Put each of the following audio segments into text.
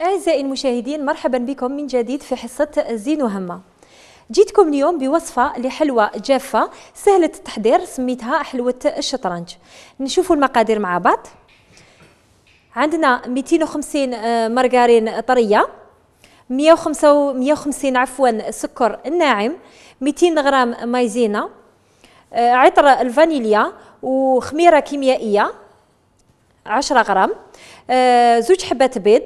أعزائي المشاهدين، مرحبا بكم من جديد في حصة زين وهمة. جيتكم اليوم بوصفة لحلوى جافة سهلة التحضير، سميتها حلوة الشطرنج. نشوفوا المقادير مع بعض. عندنا 250 مارغرين طرية، 150 سكر ناعم، 200 غرام مايزينا، عطر الفانيليا وخميرة كيميائية 10 غرام، زوج حبات بيض،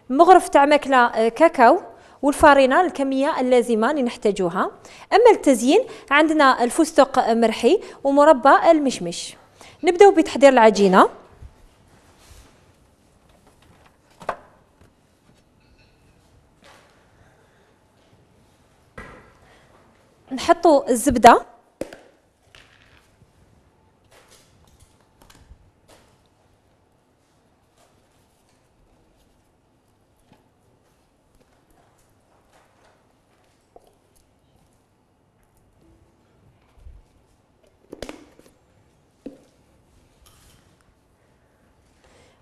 مغرف تاع ماكله كاكاو، والفارينه الكميه اللازمه اللي نحتاجوها. اما التزيين عندنا الفستق مرحي ومربى المشمش. نبداو بتحضير العجينه. نحطوا الزبده،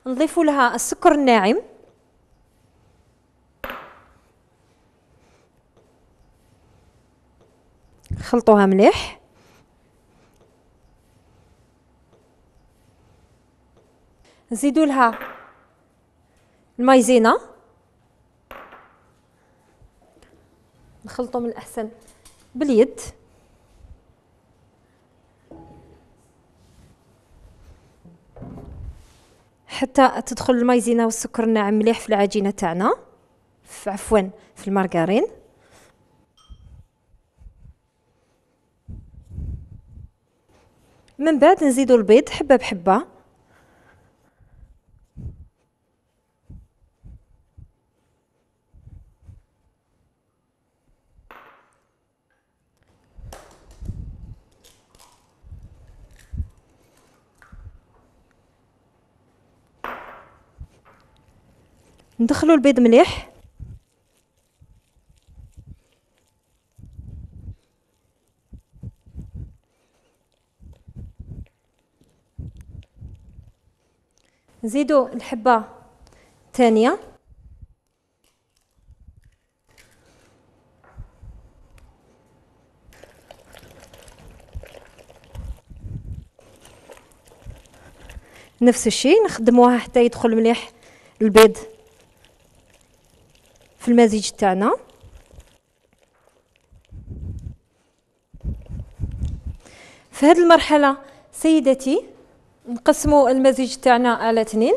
نضيف لها السكر الناعم، خلطوها مليح، نزيدوا لها المايزينا، نخلطوا من الأحسن باليد، حتى تدخل المايزينا والسكر الناعم مليح في العجينه تاعنا، في المارغرين. من بعد نزيدوا البيض حبه بحبه، ندخلوا البيض مليح، نزيدوا الحبة الثانية، نفس الشيء نخدموها حتى يدخل مليح البيض في المزيج تاعنا. في هذه المرحلة سيدتي نقسموا المزيج تاعنا على 2.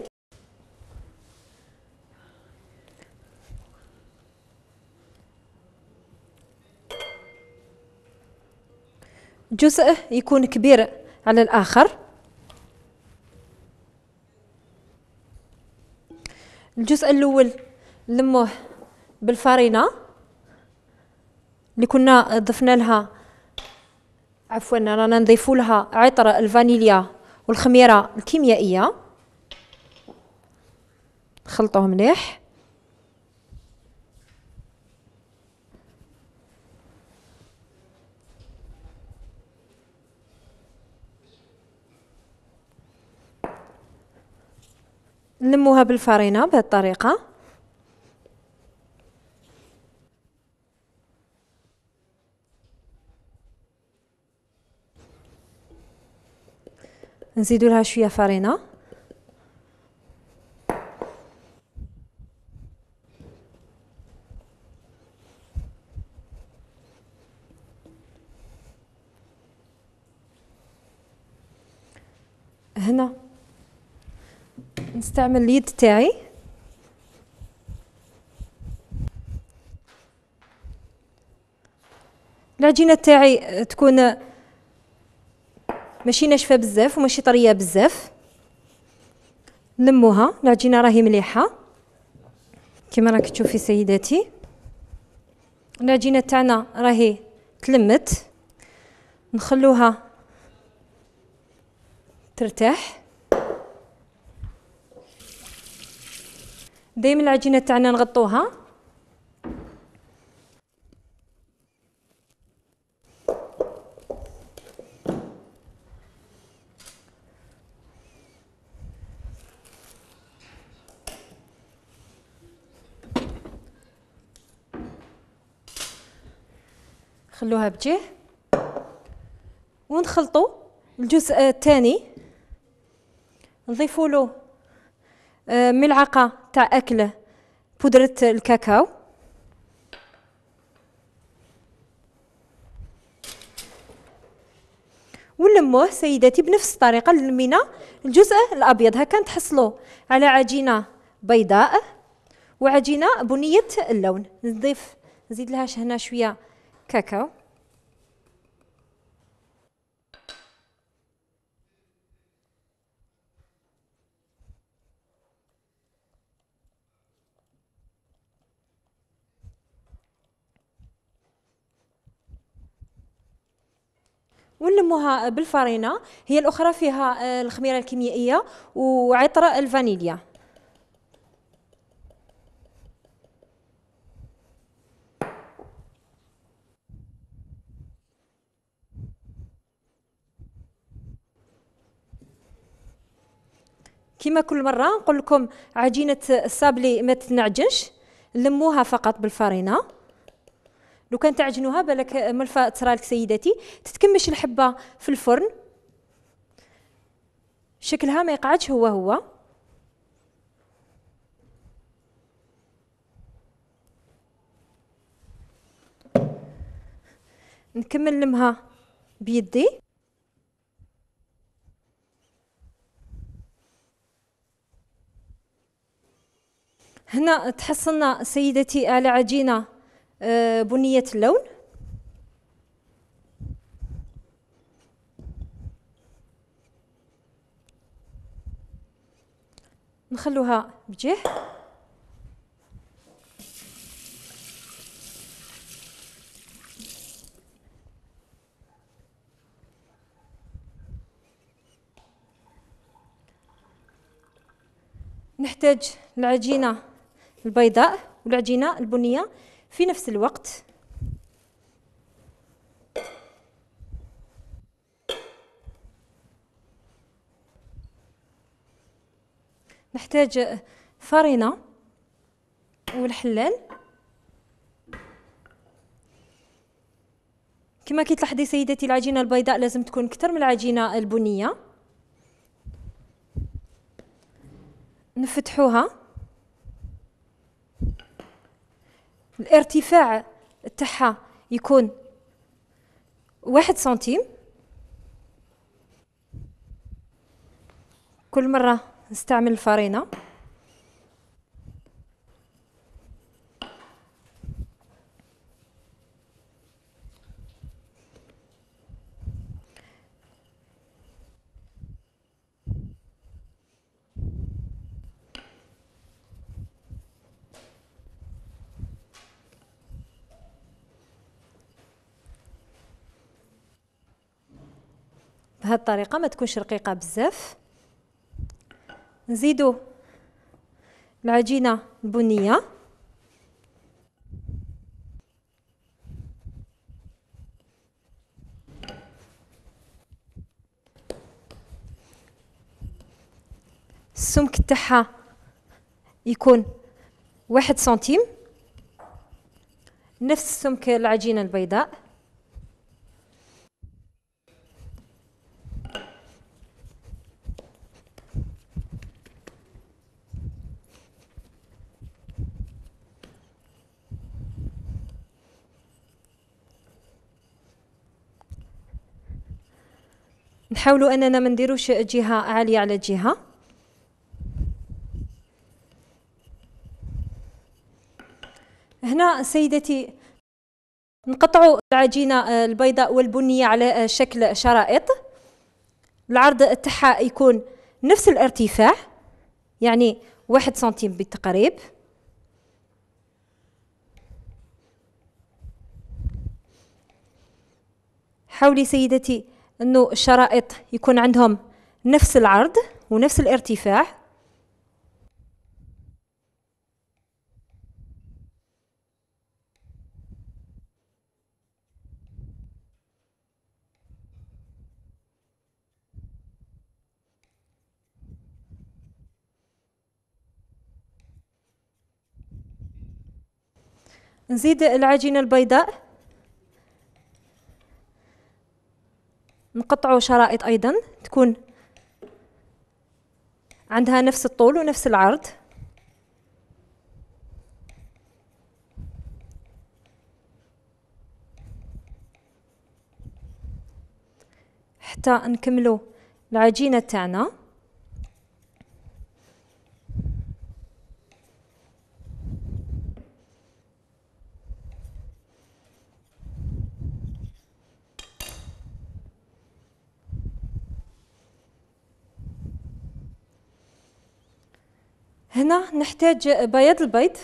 جزء يكون كبير على الآخر. الجزء الأول نلموه بالفارينة اللي كنا ضفنا لها، رانا نضيفوا لها عطر الفانيليا والخميرة الكيميائية، نخلطوه مليح. نلموها بالفارينة بهذه الطريقة. نزيدوا لها شوية فارينة، هنا نستعمل اليد تاعي، العجينة تاعي تكون ماشي ناشفه بزاف وماشي طريه بزاف. نلموها، العجينه راهي مليحه كما راك تشوفي سيداتي. العجينه تاعنا راهي تلمت، نخلوها ترتاح. دايما العجينه تاعنا نغطوها. خلوها بجيه ونخلطوا الجزء الثاني. نضيفوا له ملعقه تاع اكل بودره الكاكاو. ونلموه سيداتي بنفس الطريقه اللي لمينا الجزء الابيض. هكا تحصلوا على عجينه بيضاء وعجينه بنيه اللون. نزيد لها هنا شويه كاكاو. ونلموها بالفرينه. هي الاخرى فيها الخميره الكيميائيه وعطر الفانيليا. كما كل مره نقول لكم عجينه الصابلي ما تنعجنش، لموها فقط بالفرينه. لو كان تعجنوها بالك ملفه تصرالك سيداتي تتكمش الحبه في الفرن، شكلها ما يقعدش هو. نكمل لمها بيدي. هنا تحصلنا سيدتي على عجينه بنيه اللون. نخلوها بجيه. نحتاج العجينه البيضاء والعجينه البنيه في نفس الوقت. نحتاج فرينه والحلال. كما كي تلاحظي سيدتي العجينه البيضاء لازم تكون اكثر من العجينه البنيه. نفتحوها. الارتفاع تاعها يكون 1 سنتيم. كل مرة نستعمل الفرينة. بهذه الطريقة ما تكونش رقيقة بزاف. نزيدو العجينة البنية. السمك تاعها يكون 1 سنتيم نفس سمك العجينة البيضاء. نحاولوا اننا ما نديروش جهه عاليه على جهه. هنا سيدتي نقطعوا العجينه البيضاء والبنيه على شكل شرائط. العرض تاعها يكون نفس الارتفاع يعني 1 سنتيم بالتقريب. حاولي سيدتي أنه الشرائط يكون عندهم نفس العرض ونفس الارتفاع. نزيد العجينة البيضاء، نقطعوا شرائط أيضا تكون عندها نفس الطول ونفس العرض. حتى نكملوا العجينة تاعنا. هنا نحتاج بياض البيض،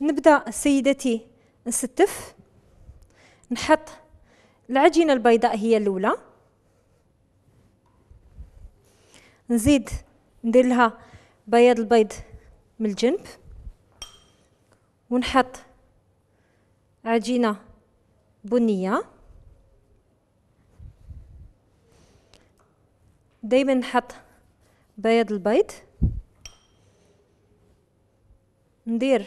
نبدأ سيدتي نستف، نحط العجينة البيضاء هي الأولى، نزيد ندير لها بياض البيض من الجنب، ونحط عجينة بنية. دايما نحط بياض البيض، ندير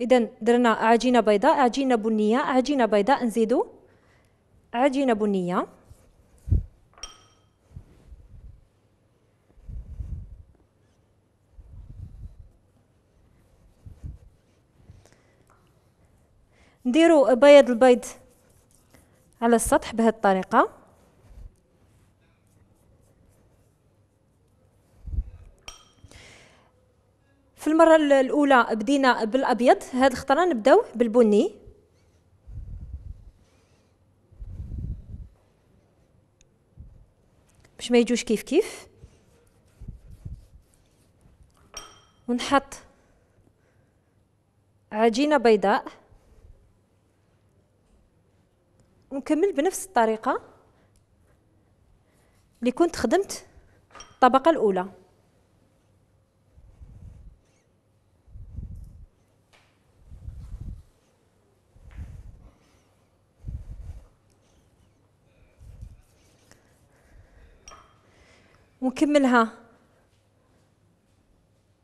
إذا درنا عجينة بيضاء، عجينة بنية، عجينة بيضاء، نزيدو عجينة بنية، نديرو بياض البيض على السطح بهذه الطريقة. في المرة الأولى بدينا بالأبيض، هذه الخطرة نبداو بالبني. باش ما يجوش كيف كيف. ونحط عجينة بيضاء، ونكمل بنفس الطريقة اللي كنت خدمت الطبقة الأولى. ونكملها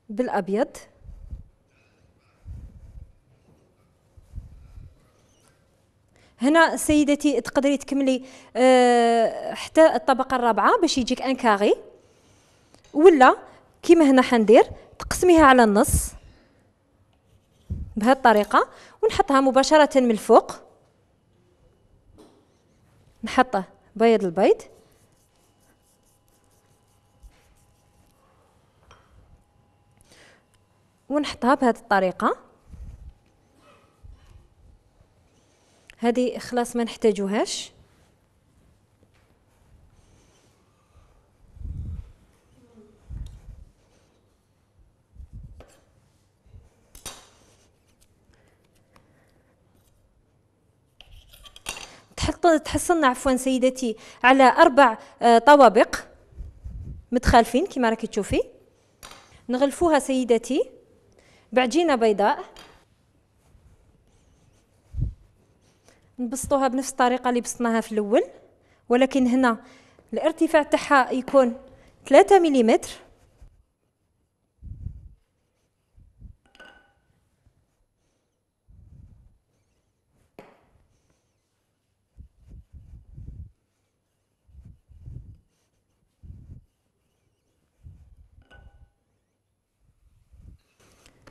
بالأبيض. هنا سيدتي تقدري تكملي حتى الطبقة الرابعة باش يجيك ان كاري، ولا كيما هنا حندير تقسميها على النص بهذه الطريقة، ونحطها مباشرة من الفوق. نحط بيض البيض، ونحطها بهذه الطريقة. هذه خلاص ما نحتاجوهاش. تحصلنا عفوا سيدتي على 4 طوابق متخالفين كما راكي تشوفي. نغلفوها سيدتي بعجينة بيضاء، نبسطوها بنفس الطريقة اللي بسطناها في الأول، ولكن هنا الارتفاع تاعها يكون 3 ملم.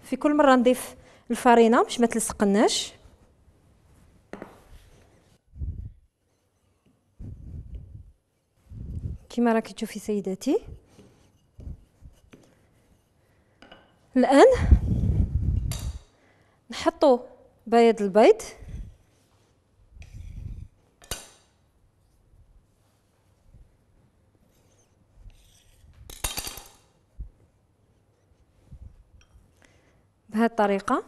في كل مرة نضيف الفرينة باش ما تلصقناش. كما راكي تشوفي سيداتي. الآن نحطو بياض البيض بهذه الطريقة.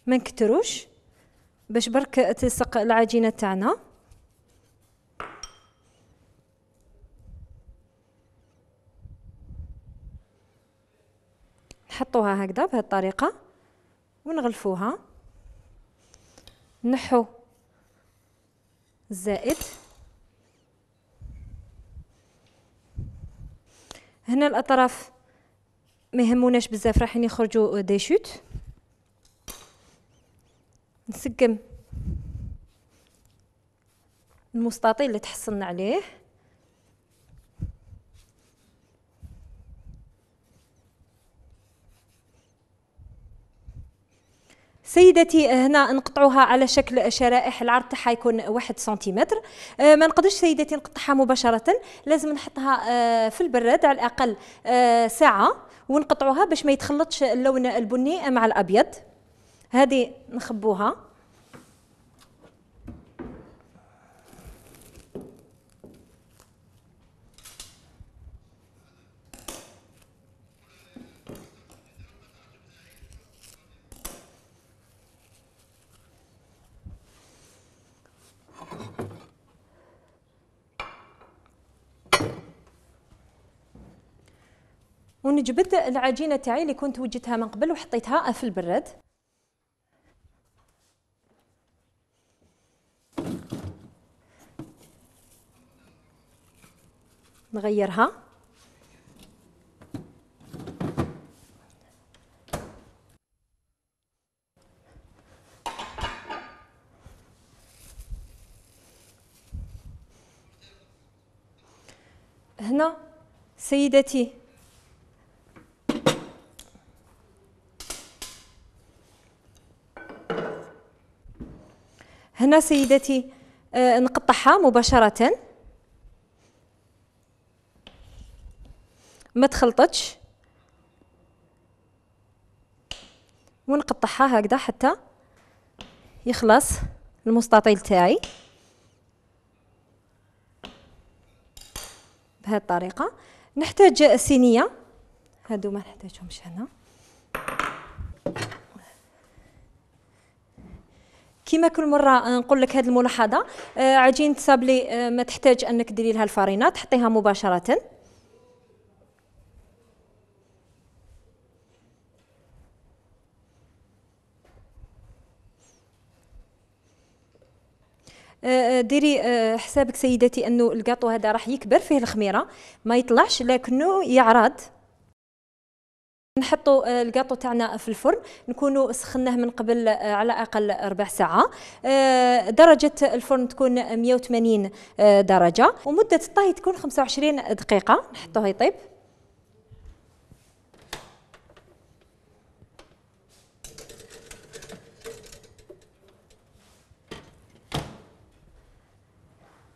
ما نكتروش باش برك تلصق العجينه تاعنا. نحطوها هكذا بهذه الطريقه ونغلفوها. نحو الزائد. هنا الاطراف ما يهموناش بزاف، رايحين يخرجوا دي شوت. نسقم المستطيل اللي تحصلنا عليه. سيدتي هنا نقطعوها على شكل شرائح، العرض تاعها يكون 1 سنتيمتر. ما نقدرش سيدتي نقطعها مباشرة، لازم نحطها في البراد على الأقل ساعة ونقطعوها باش ما يتخلطش اللون البني مع الأبيض. هذه نخبوها. ونجبد العجينه تاعي اللي كنت وجدتها من قبل وحطيتها في البراد. نغيرها. هنا سيدتي هنا سيدتي نقطعها مباشرة، ما تخلطتش، ونقطعها هكذا حتى يخلص المستطيل تاعي بهذه الطريقة. نحتاج صينية، هادو ما نحتاجهمش هنا. كما كل مرة نقول لك هذه الملاحظة، عجينة سابلي ما تحتاج أنك ديري لها الفرينة، تحطيها مباشرة. ديري حسابك سيدتي أنه الكاطو هذا راح يكبر فيه الخميرة، ما يطلعش لكنه يعرض. نحطوا الكاطو تاعنا في الفرن، نكونوا سخناه من قبل على اقل 4 ساعة. درجة الفرن تكون 180 درجة، ومدة الطهي تكون 25 دقيقة. نحطوه يطيب.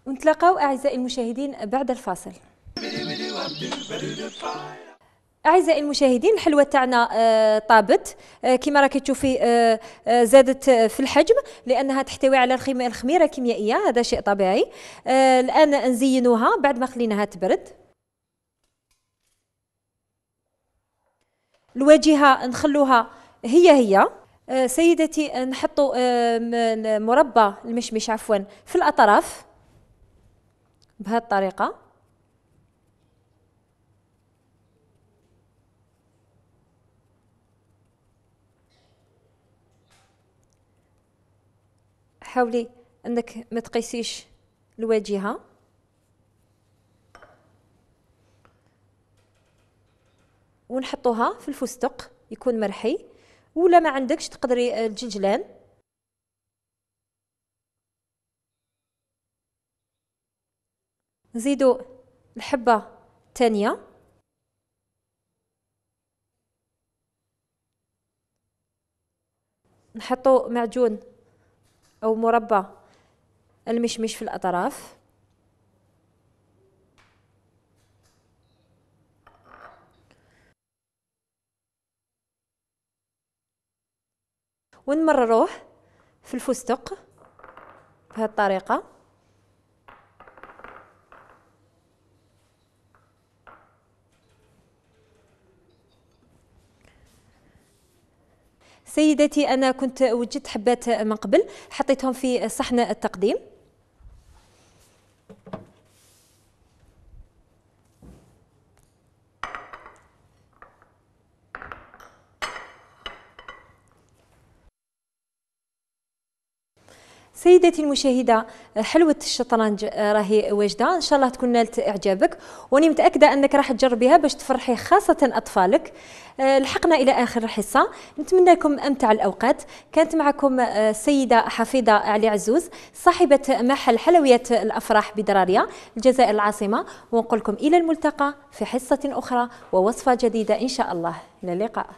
ونتلاقاو اعزائي المشاهدين بعد الفاصل. أعزائي المشاهدين، الحلوى تاعنا طابت كما راكي تشوفي، زادت في الحجم لأنها تحتوي على الخميرة الكيميائية، هذا شيء طبيعي. الآن نزينوها بعد ما خليناها تبرد. الواجهة نخلوها هي سيدتي. نحطوا مربى المشمش عفوا في الأطراف بهذه الطريقة. حاولي انك ما تقيسيش الواجهه. ونحطوها في الفستق يكون مرحي، ولا ما عندكش تقدري الجلجلان. نزيدوا الحبه الثانية، نحطو معجون أو مربى المشمش في الأطراف، ونمرروه في الفستق بهذه الطريقة. سيداتي أنا كنت وجدت حبات من قبل، حطيتهم في صحن التقديم. سيداتي المشاهدة، حلوة الشطرنج راهي واجدة، إن شاء الله تكون نالت إعجابك، وأني متأكدة أنك راح تجربيها باش تفرحي خاصة أطفالك. لحقنا إلى آخر الحصة، نتمنى لكم أمتع الأوقات. كانت معكم السيدة حفيظة علي عزوز، صاحبة محل حلويات الأفراح بدرارية الجزائر العاصمة، ونقول لكم إلى الملتقى في حصة أخرى ووصفة جديدة إن شاء الله. إلى اللقاء.